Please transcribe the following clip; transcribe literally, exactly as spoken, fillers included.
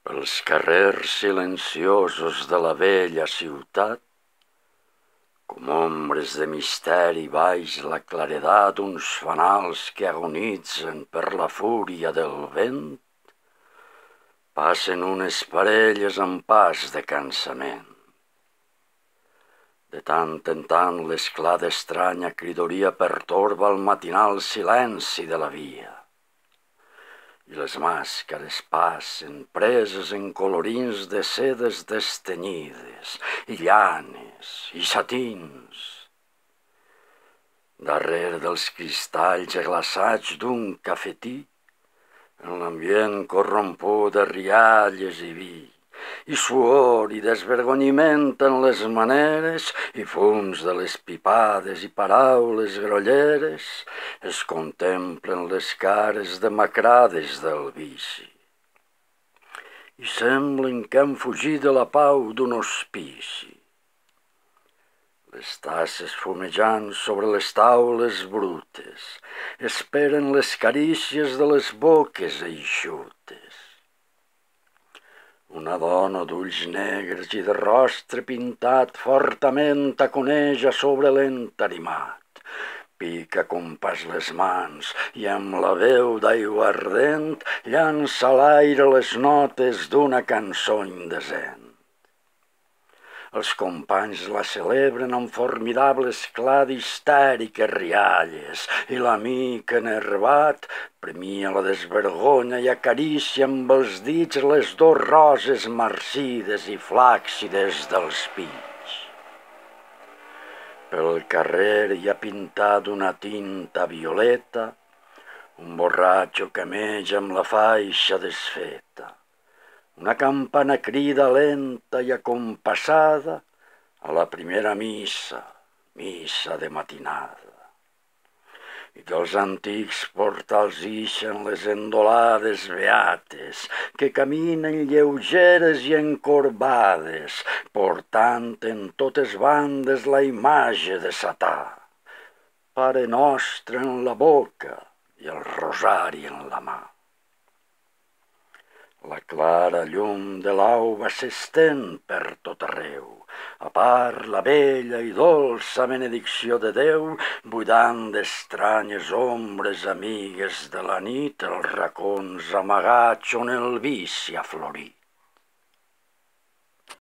Els carrers silenciosos de la vella ciutat, com ombres de misteri baix la claredat d'uns fanals que agonitzen per la fúria del vent, passen unes parelles amb pas de cansament. De tant en tant l'esclat d'estranya cridoria pertorba el matinal silenci de la via. I les màscares passen preses en colorins de sedes destenyides, i llanes, i satins. Darrere dels cristalls glaçats d'un cafetí, en l'ambient corromput de rialles i vi, i suor i desvergonyiment en les maneres, i fums de les pipades i paraules grolleres, es contemplen les cares demacrades del vici. I semblen que han fugit de la pau d'un hospici. Les tasses fumejant sobre les taules brutes esperen les carícies de les boques eixutes. Una dona d'ulls negres i de rostre pintat fortament taconeja sobre l'entarimat, pica com pas les mans i amb la veu d'aigua ardent llança a l'aire les notes d'una cançó indecent. Els companys la celebren amb formidable esclat d'histèriques rialles i l'amic enervat premia la desvergonya i acaricia amb els dits les dos roses marcides i flàccides dels pits. Pel carrer hi ha pintat una tinta violeta, un borratxo cameja amb la faixa desfeta. Una campana crida lenta i acompassada a la primera missa, missa de matinada. I que els antics portals ixen les endolades beates, que caminen lleugeres i encorbades, portant en totes bandes la imatge de Satà, Pare Nostre en la boca i el rosari en la mà. La clara llum de l'alba s'estén per tot arreu, a part la bella i dolça benedicció de Déu, buidant d'estranyes ombres amigues de la nit els racons amagats on el vici ha florit.